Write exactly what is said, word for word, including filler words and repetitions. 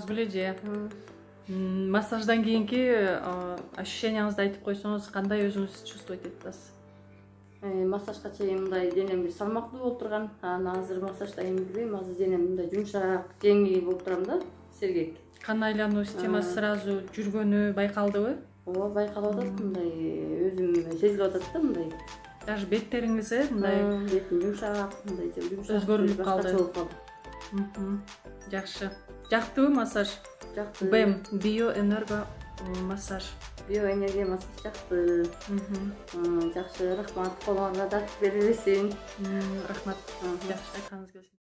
азгы эле же. Массаждан кийинки ощущенияңызды айтып койсоңуз, кандай өзүңүз чувствовать этип атасыз? Массажга чейин мындай денем бир салмактуу болуп турган. Анан азыр массаждан кийин билбейм, азыр денем мындай жумшак, жеңил болуп турам да, сергек. Кан айлануу системасы сразу жүргөнү байкалдыбы? Ооба, байкалып атат, мындай өзүм сезилип атат да, мындай. Даже беттериңиз э, мындай бетим жумшак, мындай жумшак өзгөрүлүп калды. Жакшы. Жактыбы массаж? Жакты. БЭМ, биоэнерго массаж. Биоэнергия массаж жакты. Жакшы, рахмат. Колуңарга дат берилсин. Рахмат. Жакшы, айтканыңыз келсин.